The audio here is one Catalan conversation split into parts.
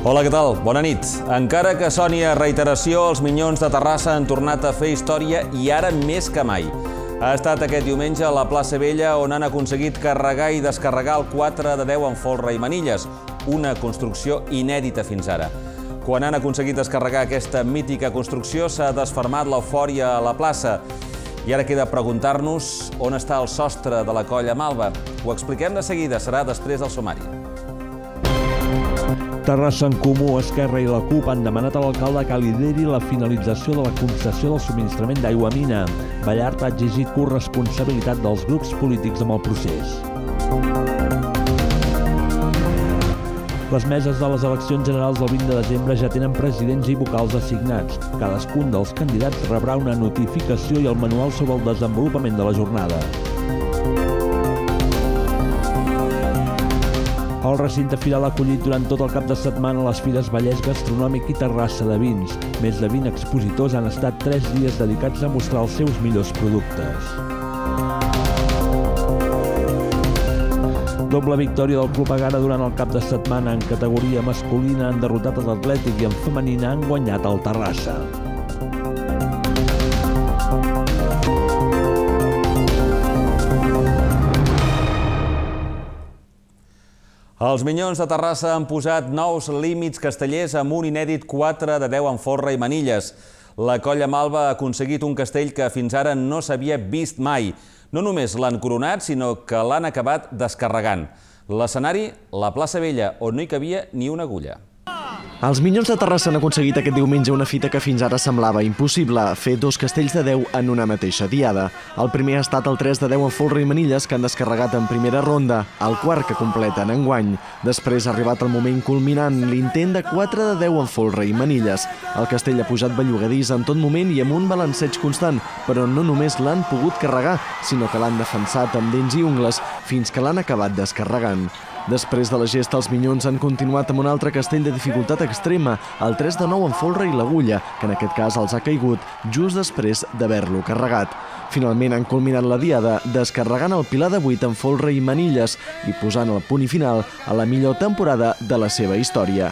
Hola, què tal? Bona nit. Encara que soni a reiteració, els Minyons de Terrassa han tornat a fer història i ara més que mai. Ha estat aquest diumenge a la plaça Vella on han aconseguit carregar i descarregar el 4 de 10 en folre i manilles, una construcció inèdita fins ara. Quan han aconseguit descarregar aquesta mítica construcció s'ha desfermat l'eufòria a la plaça. I ara queda preguntar-nos on està el sostre de la colla Malva. Ho expliquem de seguida, serà després del sumari. Terrassa en Comú, Esquerra i la CUP han demanat a l'alcalde que lideri la finalització de la concessió del subministrament d'aigua a Mina. Ballart ha exigit corresponsabilitat dels grups polítics amb el procés. Les meses de les eleccions generals del 20 de desembre ja tenen presidents i vocals assignats. Cadascun dels candidats rebrà una notificació i el manual sobre el desenvolupament de la jornada. El recinte firal ha acollit durant tot el cap de setmana les fires Vallès Gastronòmic i Terrassa de Vins. Més de 20 expositors han estat 3 dies dedicats a mostrar els seus millors productes. Doble victòria del Club Egara durant el cap de setmana. En categoria masculina han derrotat l'Atlètic i en femenina han guanyat el Terrassa. Els Minyons de Terrassa han posat nous límits castellers amb un inèdit 4 de 10 en folre i manilles. La colla Malva ha aconseguit un castell que fins ara no s'havia vist mai. No només l'han coronat, sinó que l'han acabat descarregant. L'escenari, la plaça Vella, on no hi cabia ni una agulla. Els Minyons de Terrassa han aconseguit aquest diumenge una fita que fins ara semblava impossible, fer 2 castells de 10 en una mateixa diada. El primer ha estat el 3 de 10 en folre i manilles que han descarregat en primera ronda, el quart que completen enguany. Després ha arribat el moment culminant, l'intent de 4 de 10 en folre i manilles. El castell ha pujat bellugadís en tot moment i amb un balanceig constant, però no només l'han pogut carregar, sinó que l'han defensat amb dents i ungles fins que l'han acabat descarregant. Després de la gesta, els Minyons han continuat amb un altre castell de dificultat extrema, el 3 de 9 en folre i l'agulla, que en aquest cas els ha caigut just després d'haver-lo carregat. Finalment han culminat la diada descarregant el pilar de 8 en folre i manilles i posant el punt i final a la millor temporada de la seva història.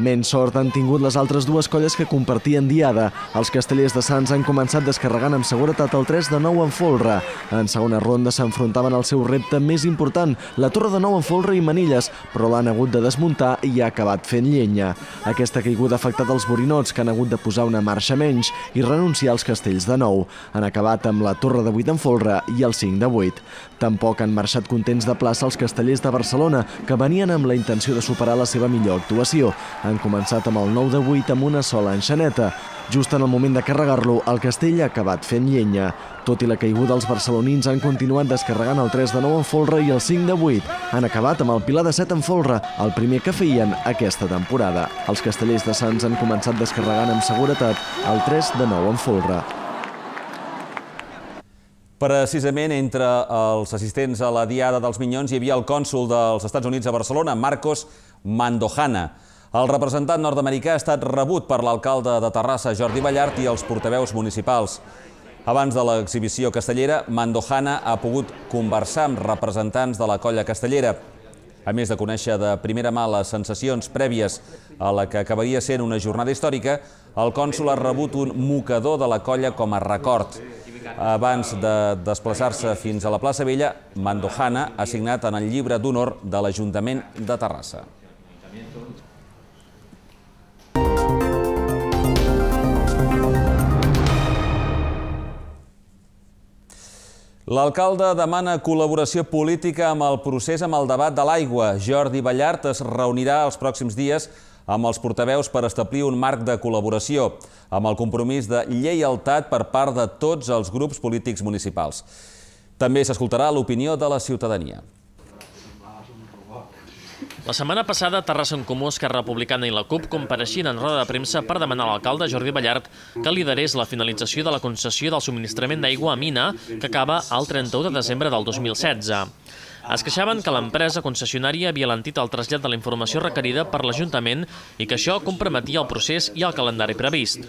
Menys sort han tingut les altres dues colles que compartien diada. Els castellers de Sants han començat descarregant amb seguretat el 3 de 9 en folre. En segona ronda s'enfrontaven al seu repte més important, la torre de 9 en folre i manilles, però l'han hagut de desmuntar i ha acabat fent llenya. Aquesta caiguda ha afectat els borinots, que han hagut de posar una marxa menys i renunciar als castells de 9. Han acabat amb la torre de 8 en folre i el 5 de 8. Tampoc han marxat contents de plaça els castellers de Barcelona, que venien amb la intenció de superar la seva millor actuació. Han començat amb el 9 de 8 amb una sola enxaneta. Just en el moment de carregar-lo, el castell ha acabat fent llenya. Tot i la caiguda, els barcelonins han continuat descarregant el 3 de 9 en folre i el 5 de 8. Han acabat amb el pilar de 7 en folre, el primer que feien aquesta temporada. Els castellers de Sants han començat descarregant amb seguretat el 3 de 9 en folre. Precisament entre els assistents a la diada dels Minyons hi havia el cònsol dels Estats Units a Barcelona, Marcos Mandojana. El representant nord-americà ha estat rebut per l'alcalde de Terrassa, Jordi Ballart, i els portaveus municipals. Abans de l'exhibició castellera, Mandojana ha pogut conversar amb representants de la colla castellera. A més de conèixer de primera mà les sensacions prèvies a la que acabaria sent una jornada històrica, el cònsol ha rebut un mocador de la colla com a record. Abans de desplaçar-se fins a la plaça Vella, Mandojana ha signat en el llibre d'honor de l'Ajuntament de Terrassa. L'alcalde demana col·laboració política amb el procés amb el debat de l'aigua. Jordi Ballart es reunirà els pròxims dies amb els portaveus per establir un marc de col·laboració, amb el compromís de lleialtat per part de tots els grups polítics municipals. També s'escoltarà l'opinió de la ciutadania. La setmana passada, Terrassa en Comú, Esquerra Republicana i la CUP compareixien en roda de premsa per demanar a l'alcalde Jordi Ballart que liderés la finalització de la concessió del subministrament d'aigua a Mina, que acaba el 31 de desembre del 2016. Es queixaven que l'empresa concessionària havia alentit el trasllat de la informació requerida per l'Ajuntament i que això comprometia el procés i el calendari previst.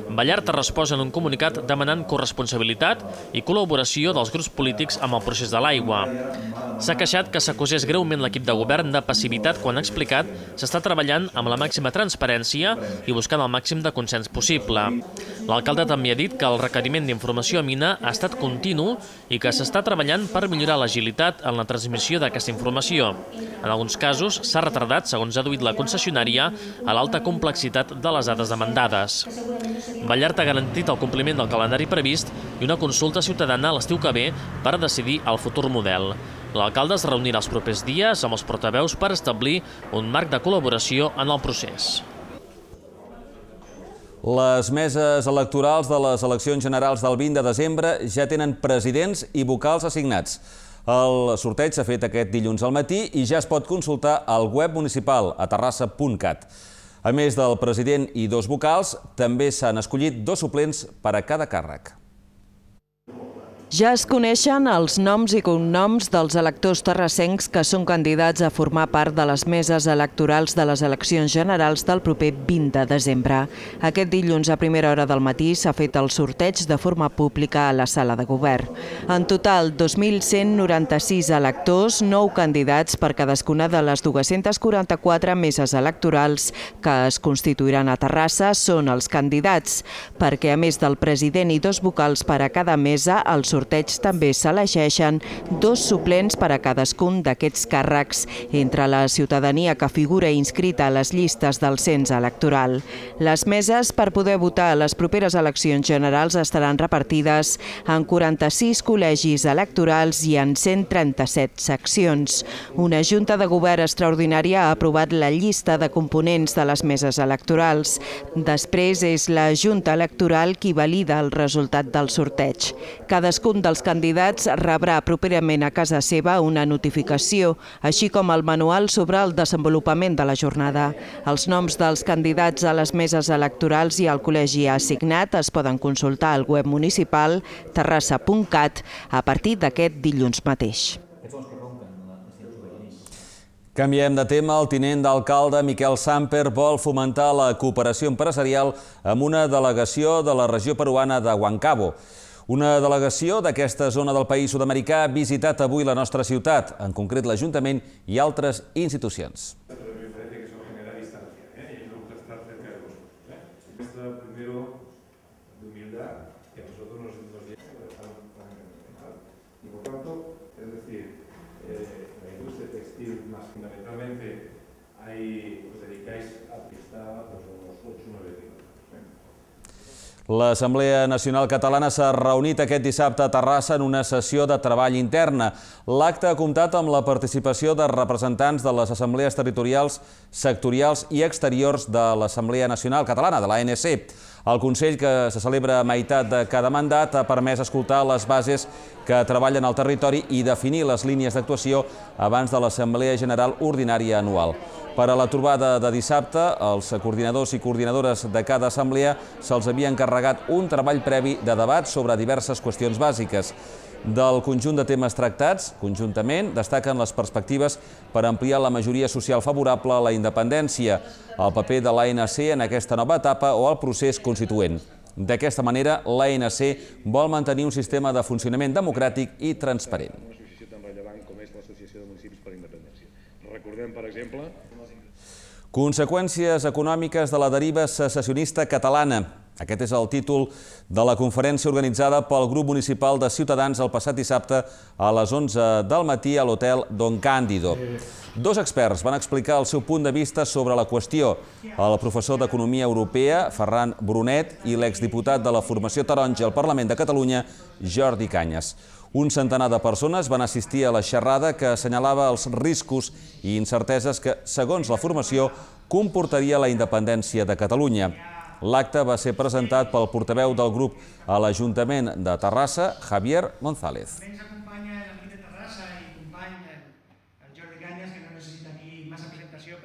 Ballart ha respost en un comunicat demanant corresponsabilitat i col·laboració dels grups polítics amb el procés de l'aigua. S'ha queixat que s'acusés greument l'equip de govern de passivitat quan ha explicat s'està treballant amb la màxima transparència i buscant el màxim de consens possible. L'alcalde també ha dit que el requeriment d'informació a Mina ha estat continu i que s'està treballant per millorar l'agilitat en la transmissió d'aquesta informació. En alguns casos s'ha retardat, segons ha adduït la concessionària, a l'alta complexitat de les dades demandades. Ballart ha garantit el compliment del calendari previst i una consulta ciutadana l'estiu que ve per decidir el futur model. L'alcalde es reunirà els propers dies amb els portaveus per establir un marc de col·laboració en el procés. Les meses electorals de les eleccions generals del 20 de desembre ja tenen presidents i vocals assignats. El sorteig s'ha fet aquest dilluns al matí i ja es pot consultar al web municipal a terrassa.cat. A més del president i 2 vocals, també s'han escollit 2 suplents per a cada càrrec. Ja es coneixen els noms i cognoms dels electors terrassencs que són candidats a formar part de les meses electorals de les eleccions generals del proper 20 de desembre. Aquest dilluns a primera hora del matí s'ha fet el sorteig de forma pública a la sala de govern. En total, 2.196 electors, 9 candidats per cadascuna de les 244 meses electorals que es constituiran a Terrassa són els candidats, perquè a més del president i 2 vocals per a cada mesa, el sorteig també s'elegeixen 2 suplents per a cadascun d'aquests càrrecs entre la ciutadania que figura inscrita a les llistes del cens electoral. Les meses per poder votar a les properes eleccions generals estaran repartides en 46 col·legis electorals i en 137 seccions. Una Junta de Govern extraordinària ha aprovat la llista de components de les meses electorals. Després és la Junta Electoral qui valida el resultat del sorteig. Cadascun dels candidats rebrà properament a casa seva una notificació, així com el manual sobre el desenvolupament de la jornada. Els noms dels candidats a les meses electorals i al col·legi assignat es poden consultar al web municipal terrassa.cat a partir d'aquest dilluns mateix. Canviem de tema. El tinent d'alcalde Miquel Samper vol fomentar la cooperació empresarial amb una delegació de la regió peruana de Huancabo. Una delegació d'aquesta zona del país sud-americà ha visitat avui la nostra ciutat, en concret l'Ajuntament i altres institucions. L'Assemblea Nacional Catalana s'ha reunit aquest dissabte a Terrassa en una sessió de treball interna. L'acte ha comptat amb la participació de representants de les assemblees territorials, sectorials i exteriors de l'Assemblea Nacional Catalana, de l'ANC. El Consell, que se celebra a meitat de cada mandat, ha permès escoltar les bases que treballen al territori i definir les línies d'actuació abans de l'Assemblea General Ordinària anual. Per a la trobada de dissabte, els coordinadors i coordinadores de cada assemblea se'ls havia encarregat un treball previ de debat sobre diverses qüestions bàsiques. Del conjunt de temes tractats, conjuntament, destaquen les perspectives per ampliar la majoria social favorable a la independència, el paper de l'ANC en aquesta nova etapa o el procés constituent. D'aquesta manera, l'ANC vol mantenir un sistema de funcionament democràtic i transparent. Recordem, per exemple, conseqüències econòmiques de la deriva secessionista catalana. Aquest és el títol de la conferència organitzada pel grup municipal de Ciutadans el passat dissabte a les 11 del matí a l'hotel Don Cándido. 2 experts van explicar el seu punt de vista sobre la qüestió. El professor d'Economia Europea, Ferran Brunet, i l'exdiputat de la Formació Taronja al Parlament de Catalunya, Jordi Cañas. Un centenar de persones van assistir a la xerrada que assenyalava els riscos i incerteses que, segons la formació, comportaria la independència de Catalunya. L'acte va ser presentat pel portaveu del grup a l'Ajuntament de Terrassa, Javier González. Ens acompanya l'equip de Terrassa i company el Jordi Cañas, que no necessita aquí massa presentació.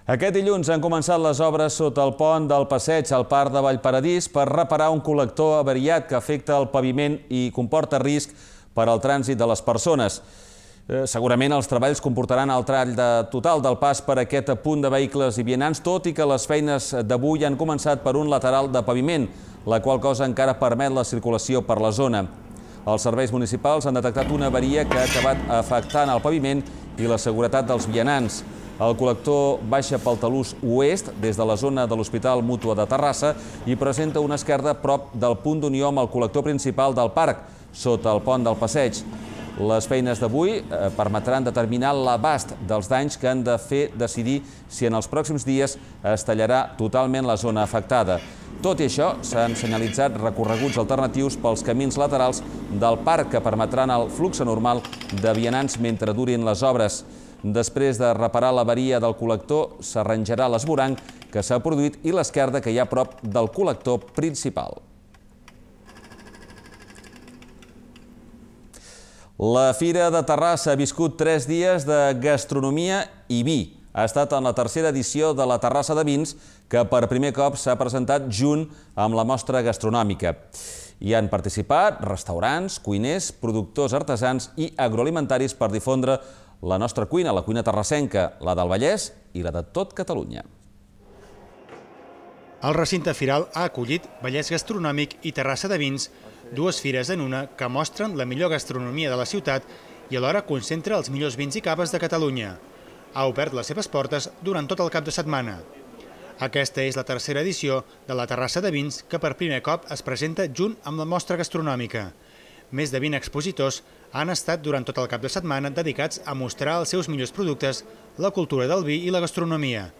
Aquest dilluns han començat les obres sota el pont del Passeig al Parc de Vallparadís per reparar un col·lector avariat que afecta el paviment i comporta risc per al trànsit de les persones. Segurament els treballs comportaran el tall total del pas per aquest punt de vehicles i vianants, tot i que les feines d'avui han començat per un lateral de paviment, la qual cosa encara permet la circulació per la zona. Els serveis municipals han detectat una avaria que ha acabat afectant el paviment i la seguretat dels vianants. El col·lector baixa pel talús oest des de la zona de l'Hospital Mútua de Terrassa i presenta una esquerda prop del punt d'unió amb el col·lector principal del parc, sota el pont del Passeig. Les feines d'avui permetran determinar l'abast dels danys que han de fer decidir si en els pròxims dies es tallarà totalment la zona afectada. Tot i això, s'han senyalitzat recorreguts alternatius pels camins laterals del parc que permetran el flux normal de vianants mentre durin les obres. Després de reparar l'avaria del col·lector, s'arranjarà l'esvoranc que s'ha produït i l'esquerda que hi ha a prop del col·lector principal. La Fira de Terrassa ha viscut 3 dies de gastronomia i vi. Ha estat en la tercera edició de la Terrassa de Vins, que per primer cop s'ha presentat junt amb la mostra gastronòmica. Hi han participat restaurants, cuiners, productors artesans i agroalimentaris per difondre la nostra cuina, la cuina terrassenca, la del Vallès i la de tot Catalunya. El recinte firal ha acollit Vallès Gastronòmic i Terrassa de Vins, dues fires en una que mostren la millor gastronomia de la ciutat i alhora concentra els millors vins i caves de Catalunya. Ha obert les seves portes durant tot el cap de setmana. Aquesta és la tercera edició de la Terrassa de Vins que per primer cop es presenta junt amb la mostra gastronòmica. Més de 20 expositors han estat durant tot el cap de setmana dedicats a mostrar els seus millors productes, la cultura del vi i la gastronomia.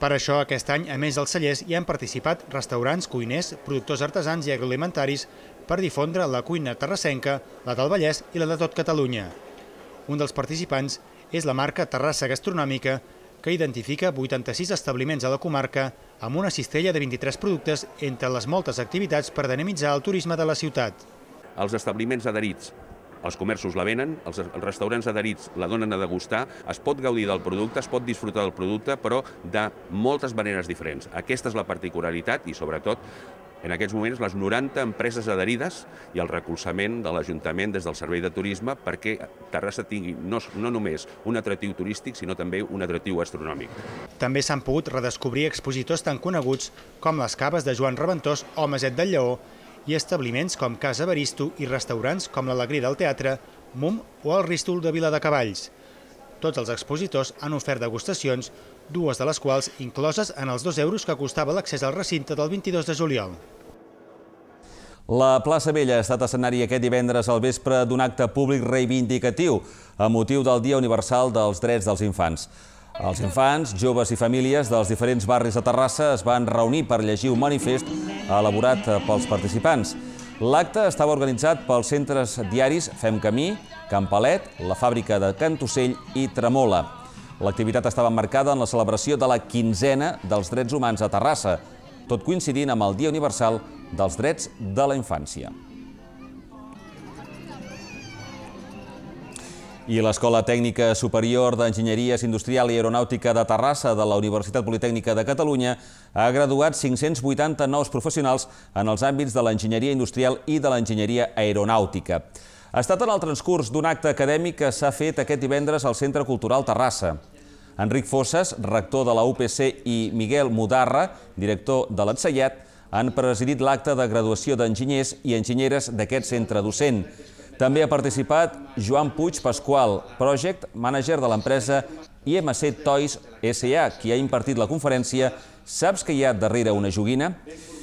Per això, aquest any, a més dels cellers, hi han participat restaurants, cuiners, productors artesans i agroalimentaris per difondre la cuina terrassenca, la del Vallès i la de tot Catalunya. Un dels participants és la marca Terrassa Gastronòmica, que identifica 86 establiments a la comarca amb una cistella de 23 productes entre les moltes activitats per dinamitzar el turisme de la ciutat. Els establiments adherits, els comerços la venen, els restaurants adherits la donen a degustar, es pot gaudir del producte, es pot disfrutar del producte, però de moltes maneres diferents. Aquesta és la particularitat i, sobretot, en aquests moments, les 90 empreses adherides i el recolzament de l'Ajuntament des del Servei de Turisme perquè Terrassa tingui no només un atractiu turístic, sinó també un atractiu gastronòmic. També s'han pogut redescobrir expositors tan coneguts com les caves de Joan Reventós o Maset del Lleó i establiments com Casa Baristo i restaurants com l'Alegria del Teatre, MUM o el Ristol de Viladecavalls. Tots els expositors han ofert degustacions, dues de les quals incloses en els 2 euros que costava l'accés al recinte del 22 de juliol. La plaça Vella ha estat escenari aquest divendres al vespre d'un acte públic reivindicatiu a motiu del Dia Universal dels Drets dels Infants. Els infants, joves i famílies dels diferents barris de Terrassa es van reunir per llegir un manifest elaborat pels participants. L'acte estava organitzat pels centres diaris Fem Camí, Can Palet, la fàbrica de Cantocell i Tremola. L'activitat estava marcada en la celebració de la 15a dels drets humans a Terrassa, tot coincidint amb el Dia Universal dels Drets de la Infància. I l'Escola Tècnica Superior d'Enginyeries Industrial i Aeronàutica de Terrassa de la Universitat Politècnica de Catalunya ha graduat 580 nous professionals en els àmbits de l'enginyeria industrial i de l'enginyeria aeronàutica. Ha estat en el transcurs d'un acte acadèmic que s'ha fet aquest divendres al Centre Cultural Terrassa. Enric Fosses, rector de la UPC, i Miguel Mudarra, director de l'Ensenyat, han presidit l'acte de graduació d'enginyers i enginyeres d'aquest centre docent. També ha participat Joan Puig Pasqual, project manager de l'empresa IMC Toys S.A., qui ha impartit la conferència Saps que hi ha darrere una joguina?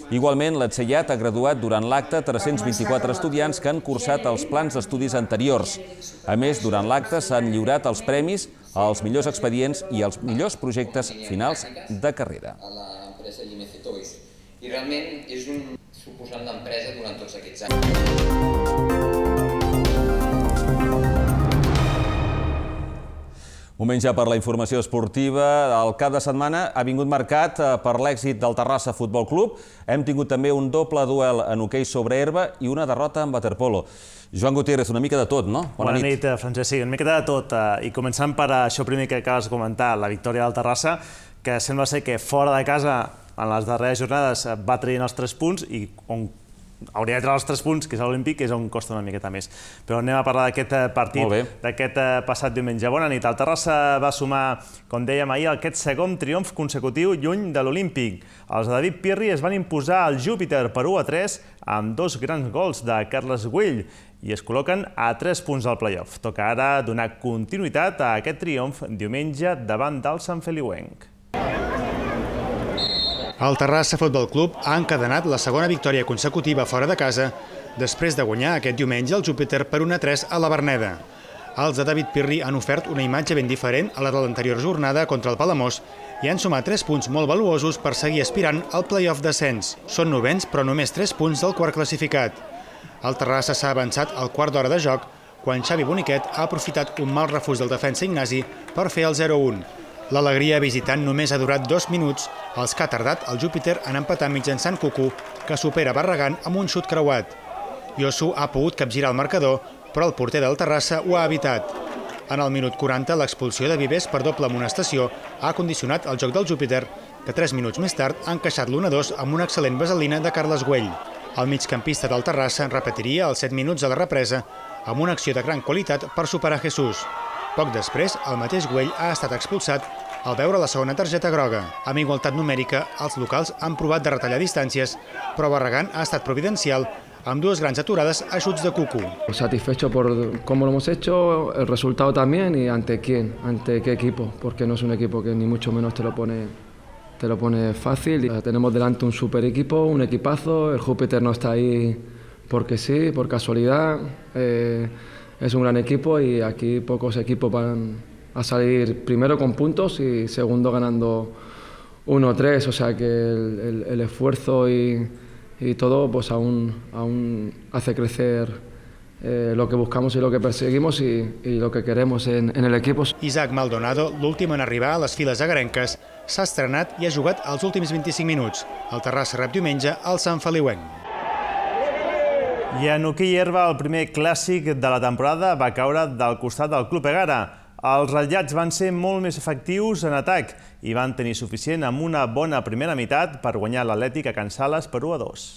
Igualment, l'Ensenyat ha graduat durant l'acte 324 estudiants que han cursat els plans d'estudis anteriors. A més, durant l'acte s'han lliurat els premis als millors expedients i als millors projectes finals de carrera. A l'empresa IMC Toys. I realment és un suposant d'empresa durant tots aquests anys. Moment ja per la informació esportiva. El cap de setmana ha vingut marcat per l'èxit del Terrassa Futbol Club. Hem tingut també un doble duel en hoquei sobre herba i una derrota en waterpolo. Joan Gutiérrez, una mica de tot, no? Bona nit, Francesc. Sí, una mica de tot. I començant per això primer que acabes de comentar, la victòria del Terrassa, que sembla ser que fora de casa, en les darreres jornades, va traient els 3 punts i on hauria de treure els 3 punts, que és l'Olímpic, és on costa una miqueta més. Però anem a parlar d'aquest partit, d'aquest passat diumenge. Bona nit. El Terrassa va sumar, com dèiem ahir, aquest segon triomf consecutiu lluny de l'Olímpic. Els de David Pirri es van imposar al Júpiter per 1-3 amb 2 grans gols de Carles Güell i es col·loquen a 3 punts al play-off. Toca ara donar continuïtat a aquest triomf diumenge davant del Sant Feliuenc. El Terrassa Futbol Club ha encadenat la segona victòria consecutiva fora de casa després de guanyar aquest diumenge el Júpiter per 1-3 a la Verneda. Els de David Pirri han ofert una imatge ben diferent a la de l'anterior jornada contra el Palamós i han sumat 3 punts molt valuosos per seguir aspirant al play-off d'ascens. Són novens, però només 3 punts del quart classificat. El Terrassa s'ha avançat al quart d'hora de joc quan Xavi Boniquet ha aprofitat un mal refús del defensa Ignasi per fer el 0-1. L'alegria visitant només ha durat 2 minuts. Els que ha tardat el Júpiter han empatat mitjançant Cucu, que supera Barragán amb un xut creuat. Yosu ha pogut capgirar el marcador, però el porter del Terrassa ho ha evitat. En el minut 40, l'expulsió de Vives per doble amonestació ha condicionat el joc del Júpiter, que 3 minuts més tard ha encaixat l'1-2 amb una excel·lent vaselina de Carles Güell. El migcampista del Terrassa repetiria els 7 minuts de la represa amb una acció de gran qualitat per superar Jesús. Poc després, el mateix Güell ha estat expulsat al veure la segona targeta groga. Amb igualtat numèrica, els locals han provat de retallar distàncies, però Barragán ha estat providencial amb 2 grans aturades a xuts de Cucu. Satisfecho por cómo lo hemos hecho, el resultado también y ante quién, ante qué equipo, porque no es un equipo que ni mucho menos te lo pone fácil. Tenemos delante un super equipo, un equipazo, el Júpiter no está ahí porque sí, por casualidad. Es un gran equipo y aquí pocos equipos van a salir primero con puntos y segundo ganando 1-3, o sea que el esfuerzo y todo pues aún hace crecer lo que buscamos y lo que perseguimos y lo que queremos en el equipo. Isaac Maldonado, l'últim en arribar a les files agarenques, s'ha estrenat i ha jugat els últims 25 minuts. El Terrassa rep diumenge al Sant Feliuenc. I en hoquei herba, el primer clàssic de la temporada va caure del costat del Club Egara. Els ratllats van ser molt més efectius en atac i van tenir suficient amb una bona primera meitat per guanyar l'Atlètic a Can Sales per 1-2.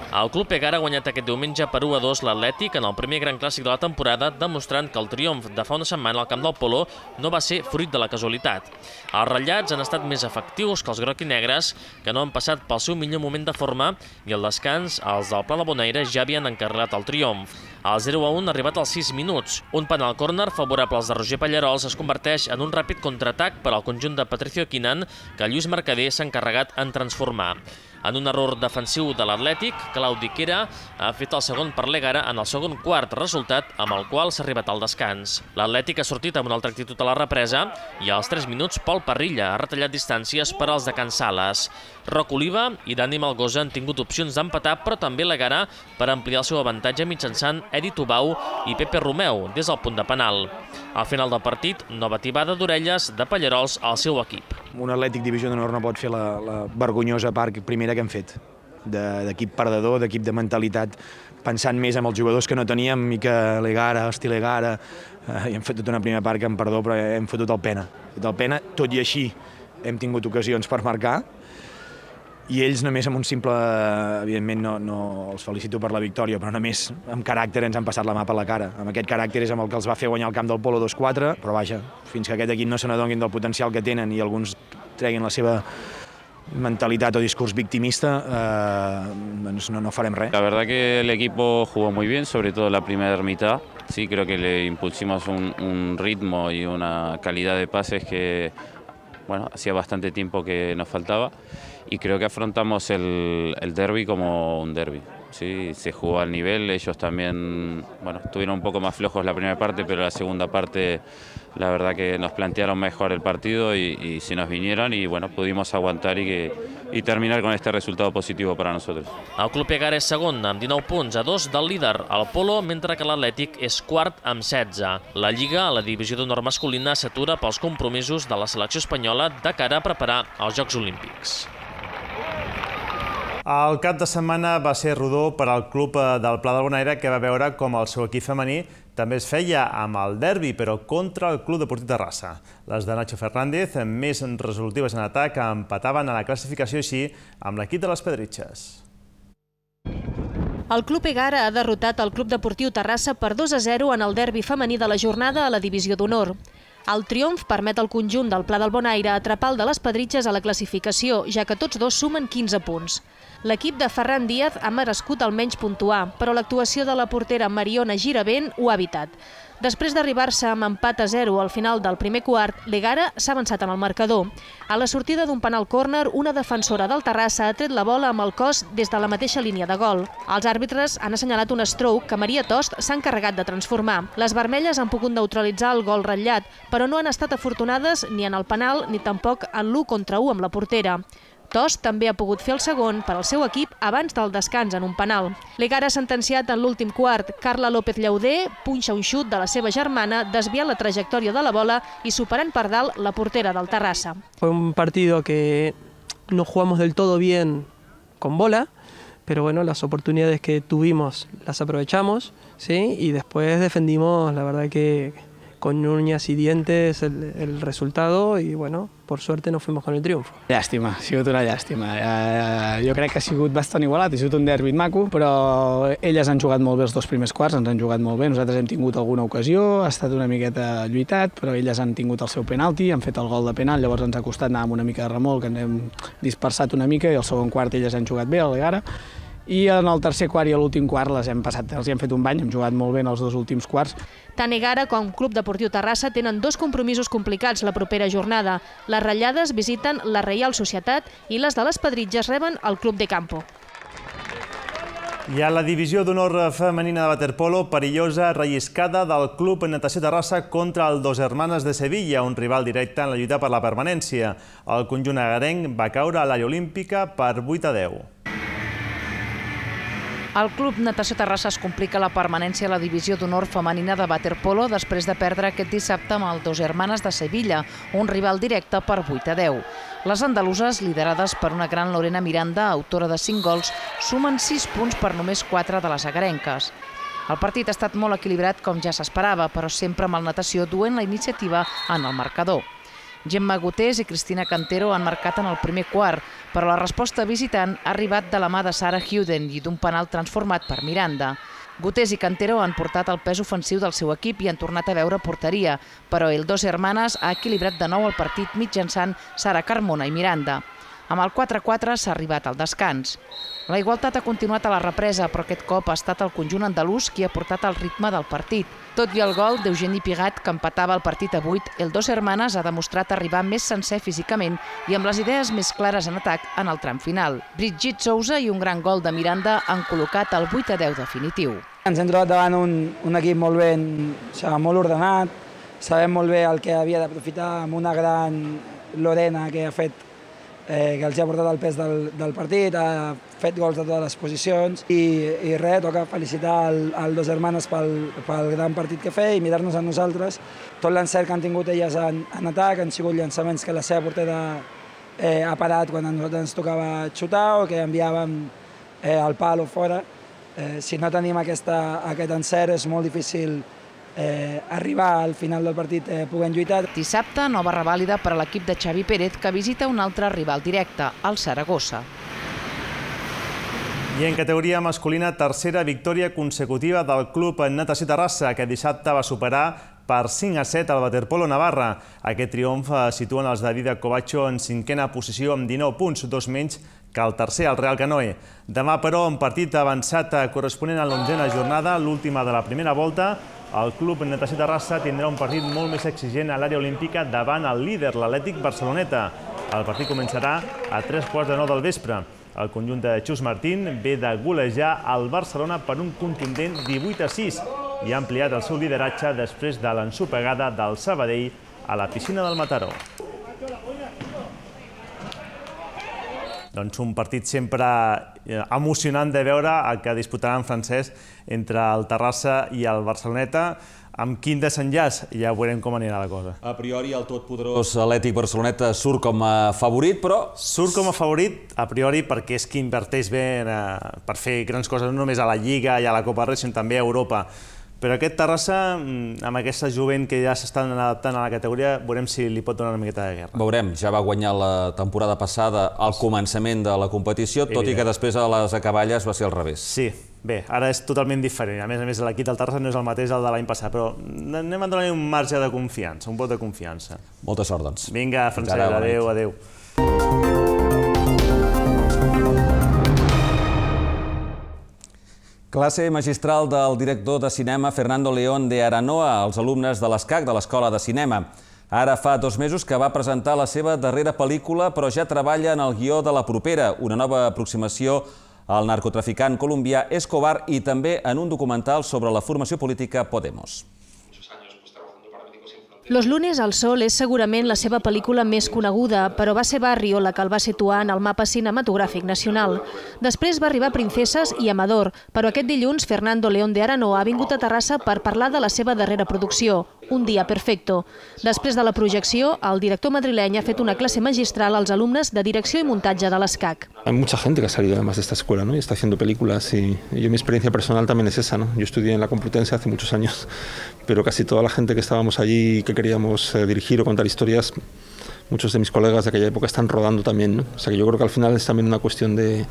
El Club Egara ha guanyat aquest diumenge per 1-2 l'Atlètic en el primer gran clàssic de la temporada, demostrant que el triomf de fa una setmana al camp del Polo no va ser fruit de la casualitat. Els ratllats han estat més efectius que els groc i negres, que no han passat pel seu millor moment de forma, i al descans els del Pla de Bonaire ja havien encarrilat el triomf. El 0-1 ha arribat als 6 minuts. Un penal córner favorable als de Roger Pallarols es converteix en un ràpid contraatac per al conjunt de Patricio Quinan, que Lluís Mercader s'ha encarregat en transformar. En un error defensiu de l'Atlètic, Claudi Quera ha fet el segon per l'Egara en el segon quart, resultat amb el qual s'ha arribat al descans. L'Atlètic ha sortit amb una altra actitud a la represa i als 3 minuts Pol Parrilla ha retallat distàncies per als de Can Sales. Roc Oliva i Dani Malgosa han tingut opcions d'empatar, però també l'Egara per ampliar el seu avantatge mitjançant Edi Tubau i Pepe Romeu des del punt de penal. Al final del partit, nova tibada d'orelles de Pallarols al seu equip. Un Atlètic Divisió d'Honor no pot fer la vergonyosa part primera que hem fet, d'equip perdedor, d'equip de mentalitat, pensant més en els jugadors que no teníem i que l'Egara, estil Egara, i hem fet tota una primera part que, amb perdó, però hem fotut el pena. Tot i així hem tingut ocasions per marcar, i ells només amb un simple, evidentment no els felicito per la victòria, però només amb caràcter ens han passat la mà per la cara. Amb aquest caràcter és amb el que els va fer guanyar el camp del Polo 2-4, però vaja, fins que aquest equip no se n'adonguin del potencial que tenen i alguns treguin la seva mentalidad o discurso victimista, no farem res. La verdad que el equipo jugó muy bien, sobre todo la primera mitad. Sí, creo que le impulsimos un ritmo y una calidad de pases que hacía bastante tiempo que nos faltaba, y creo que afrontamos el derbi como un derbi. Sí, se jugó al nivel, ellos también estuvieron un poco más flojos la primera parte, pero la segunda parte la verdad que nos plantearon mejor el partido y se nos vinieron y pudimos aguantar y terminar con este resultado positivo para nosotros. El Club Egara és segon amb 19 punts a 2 del líder, el Polo, mentre que l'Atlètic és quart amb 16. La Lliga, a la divisió d'honor masculina, s'atura pels compromisos de la selecció espanyola de cara a preparar els Jocs Olímpics. El cap de setmana va ser rodó per al club del Pla del Bonaire, que va veure com el seu equip femení també es feia amb el derbi, però contra el Club Deportiu Terrassa. Les de Nacho Fernández, més resolutives en atac, empataven a la classificació així amb l'equip de les Pedritxes. El Club Egara ha derrotat el Club Deportiu Terrassa per 2-0 en el derbi femení de la jornada a la Divisió d'Honor. El triomf permet al conjunt del Pla del Bonaire atrapar el de les Pedritxes a la classificació, ja que tots dos sumen 15 punts. L'equip de Ferran Díaz ha merescut almenys puntuar, però l'actuació de la portera Mariona Giravent ho ha evitat. Després d'arribar-se amb empat a 0 al final del primer quart, l'Egara s'ha avançat en el marcador. A la sortida d'un penal córner, una defensora del Terrassa ha tret la bola amb el cos des de la mateixa línia de gol. Els àrbitres han assenyalat un stroke que Maria Tost s'ha encarregat de transformar. Les vermelles han pogut neutralitzar el gol ratllat, però no han estat afortunades ni en el penal ni tampoc en l'1 contra 1 amb la portera. Tost també ha pogut fer el segon per al seu equip abans del descans en un penal. L'Egara ha sentenciat en l'últim quart. Carla López Llauder punxa un xut de la seva germana, desviant la trajectòria de la bola i superant per dalt la portera del Terrassa. Fue un partido que no jugamos del todo bien con bola, pero bueno, las oportunidades que tuvimos las aprovechamos, ¿sí? Y después defendimos, la verdad que con uñas y dientes el resultado y bueno, por suerte nos fuimos con el triunfo. Llàstima, ha sigut una llàstima. Jo crec que ha sigut bastant igualat, ha sigut un derbi maco, però elles han jugat molt bé els dos primers quarts, ens han jugat molt bé, nosaltres hem tingut alguna ocasió, ha estat una miqueta lluitat, però elles han tingut el seu penalti, han fet el gol de penal, llavors ens ha costat anar amb una mica de remolc, ens hem dispersat una mica i al segon quart elles han jugat bé, a l'Egara. I en el tercer quart i a l'últim quart els hem fet un bany, hem jugat molt bé en els dos últims quarts. Tant Egara com Club Deportiu Terrassa tenen dos compromisos complicats la propera jornada. Les ratllades visiten la Reial Societat i les de les Pedritxes reben el Club de Campo. I a la divisió d'honor femenina de waterpolo, perillosa relliscada del Club Natació Terrassa contra el Dos Hermanes de Sevilla, un rival directe en la lluita per la permanència. El conjunt agarenc va caure a l'àrea olímpica per 8-10. El Club Natació Terrassa es complica la permanència a la divisió d'honor femenina de waterpolo després de perdre aquest dissabte amb el Dos Hermanes de Sevilla, un rival directe per 8-10. Les andaluses, liderades per una gran Lorena Miranda, autora de 5 gols, sumen 6 punts per només 4 de les agarenques. El partit ha estat molt equilibrat com ja s'esperava, però sempre amb el natació duent la iniciativa en el marcador. Gemma Gutés i Cristina Cantero han marcat en el primer quart, però la resposta visitant ha arribat de la mà de Sara Huden i d'un penal transformat per Miranda. Gutés i Cantero han portat el pes ofensiu del seu equip i han tornat a veure porteria, però el Dos Hermanes ha equilibrat de nou el partit mitjançant Sara Carmona i Miranda. Amb el 4-4 s'ha arribat al descans. La igualtat ha continuat a la represa, però aquest cop ha estat el conjunt andalús qui ha portat el ritme del partit. Tot i el gol d'Eugeni Pigat, que empatava el partit a 8, el Dos Hermanes ha demostrat arribar més sencer físicament i amb les idees més clares en atac en el tram final. Brigitte Sousa i un gran gol de Miranda han col·locat el 8-10 definitiu. Ens hem trobat davant un equip molt ben, molt ordenat, sabem molt bé el que havia d'aprofitar amb una gran Lorena que ha fet que els ha portat el pes del partit, ha fet gols de totes les posicions i res, toca felicitar el Dos Hermanes pel gran partit que feia i mirar-nos a nosaltres. Tot l'encert que han tingut elles en atac han sigut llançaments que la seva portera ha parat quan a nosaltres ens tocava xutar o que enviàvem al pal o fora. Si no tenim aquest encert és molt difícil arribar al final del partit puguem lluitar. Dissabte, nova revàlida per a l'equip de Xavi Pérez, que visita un altre rival directe, el Saragossa. I en categoria masculina, tercera victòria consecutiva del Club Natació Terrassa, que dissabte va superar per 5-7 al waterpolo Navarra. Aquest triomf situen els de Vida Covacho en cinquena posició amb 19 punts, 2 menys que el tercer, el Real Canoe. Demà, però, un partit avançat corresponent a l'11a jornada, l'última de la primera volta. El Club Natació Terrassa tindrà un partit molt més exigent a l'àrea olímpica davant el líder, l'Atlètic Barceloneta. El partit començarà a 3:15 del vespre. El conjunt de Xus Martín ve de golejar el Barcelona per un contundent 18-6 i ha ampliat el seu lideratge després de l'ensopegada del Sabadell a la piscina del Mataró. un partit sempre emocionant de veure el que disputaran en francès entre el Terrassa i el Barceloneta. Amb quin desenllaç ja veurem com anirà la cosa. A priori el totpoderós Atlètic Barceloneta surt com a favorit, però... Surt com a favorit, a priori, perquè és qui inverteix bé per fer grans coses, no només a la Lliga i a la Copa del Rei, sinó també a Europa. Però aquest Terrassa, amb aquesta jovent que ja s'estan adaptant a la categoria, veurem si li pot donar una miqueta de guerra. Veurem, ja va guanyar la temporada passada al començament de la competició, tot i que després a les acaballes va ser al revés. Sí, bé, ara és totalment diferent. A més, l'equip del Terrassa no és el mateix del de l'any passat, però anem a donar-li un marge de confiança, un vot de confiança. Molta sort, doncs. Vinga, Francesc, adéu, adéu. Classe magistral del director de cinema Fernando León de Aranoa als alumnes de l'ESCAC, de l'Escola de Cinema. Ara fa 2 mesos que va presentar la seva darrera pel·lícula, però ja treballa en el guió de la propera, una nova aproximació al narcotraficant colombià Escobar i també en un documental sobre la formació política Podemos. Los lunes al sol és segurament la seva pel·lícula més coneguda, però va ser Barrio la que el va situar en el mapa cinematogràfic nacional. Després va arribar Princeses i Amador, però aquest dilluns Fernando León de Aranoa ha vingut a Terrassa per parlar de la seva darrera producció, Un día perfecto. Després de la projecció, el director madrileny ha fet una classe magistral als alumnes de direcció i muntatge de l'ESCAC. Hay mucha gente que ha salido además de esta escuela, ¿no? Y está haciendo películas y mi experiencia personal también es esa, ¿no? Yo estudié en la Complutense hace muchos años, pero casi toda la gente que estábamos allí y que queríamos dirigir o contar historias, muchos de mis colegas de aquella época están rodando también, ¿no? O sea que yo creo que al final es también una cuestión de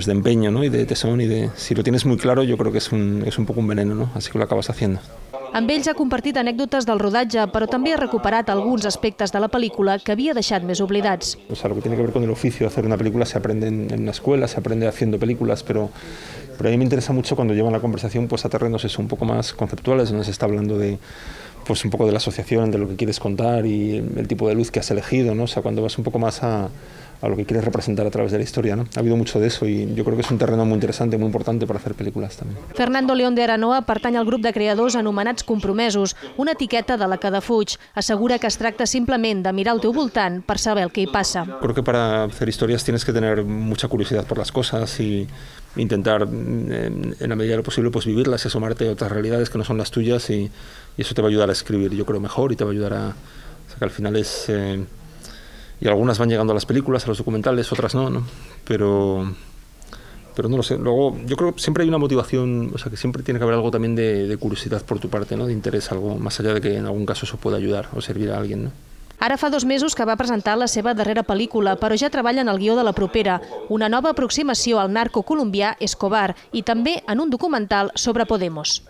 empeño, ¿no? Y de tesón y de... Si lo tienes muy claro, yo creo que es un poco un veneno, ¿no? Así que lo acabas haciendo. Amb ells ha compartit anècdotes del rodatge, però també ha recuperat alguns aspectes de la pel·lícula que havia deixat més oblidats. O sea, lo que tiene que ver con el oficio de hacer una película se aprende en una escuela, se aprende haciendo películas, pero a mí me interesa mucho cuando llevan la conversación pues a terrenos un poco más conceptuales, donde se está hablando de pues un poco de la asociación, de lo que quieres contar y el tipo de luz que has elegido, ¿no? O sea, cuando vas un poco más a lo que quieres representar a través de la historia, ¿no? Ha habido mucho de eso y yo creo que es un terreno muy interesante, muy importante para hacer películas también. Fernando León de Aranoa pertany al grup de creadors anomenats compromesos, una etiqueta de la que defuig. Assegura que es tracta simplement de mirar al teu voltant per saber el que hi passa. Creo que para hacer historias tienes que tener mucha curiosidad por las cosas y intentar, en la medida de lo posible, pues vivirlas y asomarte a otras realidades que no son las tuyas y eso te va a ayudar a escribir, yo creo, mejor y te va a ayudar a... O sea, que al final es... Y algunas van llegando a las películas, a los documentales, otras no, ¿no? Pero no lo sé. Luego, yo creo que siempre hay una motivación, o sea, que siempre tiene que haber algo también de curiosidad por tu parte, ¿no? De interés, algo más allá de que en algún caso eso pueda ayudar o servir a alguien, ¿no? Ara fa 2 mesos que va presentar la seva darrera pel·lícula, però ja treballa en el guió de la propera, una nova aproximació al narco colombià Escobar i també en un documental sobre Podemos.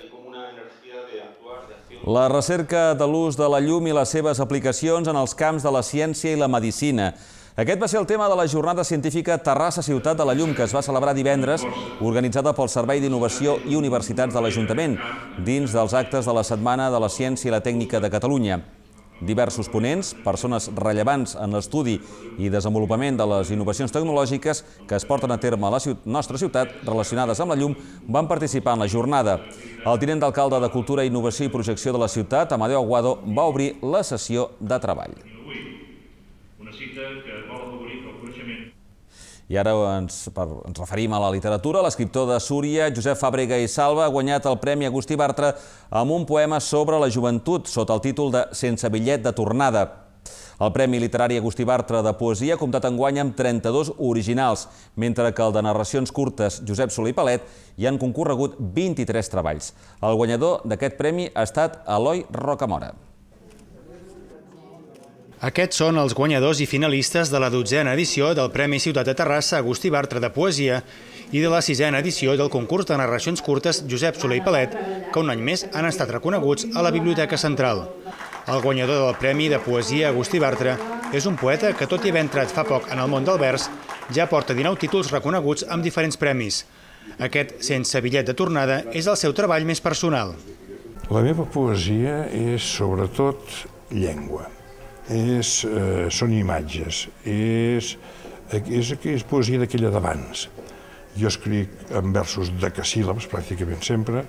La recerca de l'ús de la llum i les seves aplicacions en els camps de la ciència i la medicina. Aquest va ser el tema de la jornada científica Terrassa Ciutat de la Llum, que es va celebrar divendres, organitzada pel Servei d'Innovació i Universitats de l'Ajuntament, dins dels actes de la Setmana de la Ciència i la Tècnica de Catalunya. Diversos ponents, persones rellevants en l'estudi i desenvolupament de les innovacions tecnològiques que es porten a terme a la nostra ciutat relacionades amb la llum, van participar en la jornada. El tinent d'alcalde de Cultura, Innovació i Projecció de la ciutat, Amadeo Aguado, va obrir la sessió de treball. Una cita que vol afavorir el coneixement. I ara ens referim a la literatura. L'escriptor de Súria, Josep Fàbrega i Salva, ha guanyat el Premi Agustí Bartra amb un poema sobre la joventut, sota el títol de Sense bitllet de tornada. El Premi Literari Agustí Bartra de Poesia ha comptat enguany amb 32 originals, mentre que el de narracions curtes Josep Soler i Palet hi han concorregut 23 treballs. El guanyador d'aquest premi ha estat Eloi Rocamora. Aquests són els guanyadors i finalistes de la 12a edició del Premi Ciutat de Terrassa Agustí Bartra de Poesia i de la 6a edició del concurs de narracions curtes Josep Soler i Palet, que un any més han estat reconeguts a la Biblioteca Central. El guanyador del Premi de Poesia Agustí Bartra és un poeta que, tot i haver entrat fa poc en el món del vers, ja porta 19 títols reconeguts amb diferents premis. Aquest Sense bitllet de tornada és el seu treball més personal. La meva poesia és sobretot llengua. Són imatges, és poesia d'aquella d'abans. Jo escric en versos decasíl·labs, pràcticament sempre,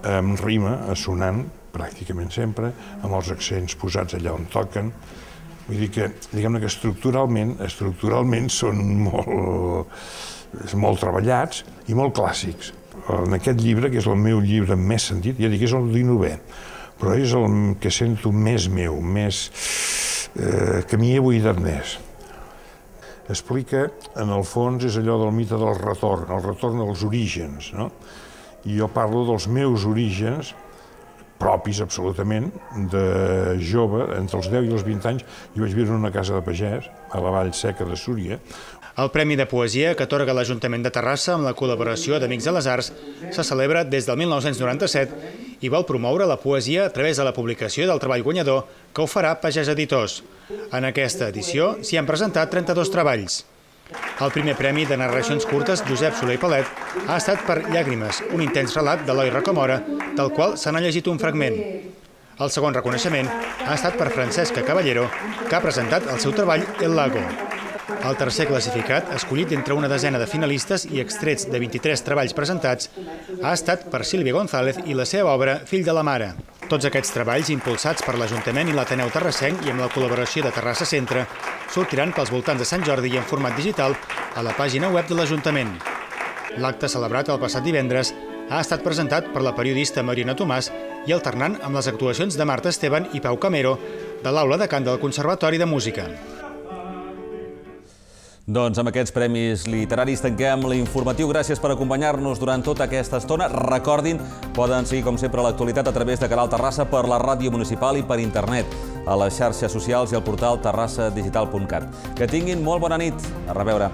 amb rima, assonant, pràcticament sempre, amb els accents posats allà on toquen, Vull dir que, diguem-ne que estructuralment són molt treballats i molt clàssics. En aquest llibre, que és el meu llibre més sentit, ja dic, és el 19è, però és el que sento més meu, que m'hi he buidat més. Explica, en el fons, és allò del mite del retorn, el retorn als orígens, no? I jo parlo dels meus orígens, propis absolutament, de jove, entre els 10 i els 20 anys, jo vaig viure en una casa de pagès, a la Vall Seca de Súria. El Premi de Poesia que atorga l'Ajuntament de Terrassa amb la col·laboració d'Amics de les Arts se celebra des del 1997 i vol promoure la poesia a través de la publicació del treball guanyador que ho farà Pagès Editors. En aquesta edició s'hi han presentat 32 treballs. El primer premi de narracions curtes Josep Soler i Palet ha estat per Llàgrimes, un intens relat d'Eloi Rocamora, del qual se n'ha llegit un fragment. El segon reconeixement ha estat per Francesca Caballero, que ha presentat el seu treball El Lago. El tercer classificat, escollit entre una desena de finalistes i extrets de 23 treballs presentats, ha estat per Sílvia González i la seva obra Fill de la Mare. Tots aquests treballs, impulsats per l'Ajuntament i l'Ateneu Terrassenc i amb la col·laboració de Terrassa Centre, sortiran pels voltants de Sant Jordi i en format digital a la pàgina web de l'Ajuntament. L'acte celebrat el passat divendres ha estat presentat per la periodista Mariona Tomàs i alternant amb les actuacions de Marta Esteban i Pau Camero de l'Aula de Cant del Conservatori de Música. Doncs amb aquests premis literaris tanquem l'informatiu. Gràcies per acompanyar-nos durant tota aquesta estona. Recordin, poden seguir com sempre l'actualitat a través de Canal Terrassa per la ràdio municipal i per internet, a les xarxes socials i al portal terrassadigital.cat. Que tinguin molt bona nit. A reveure.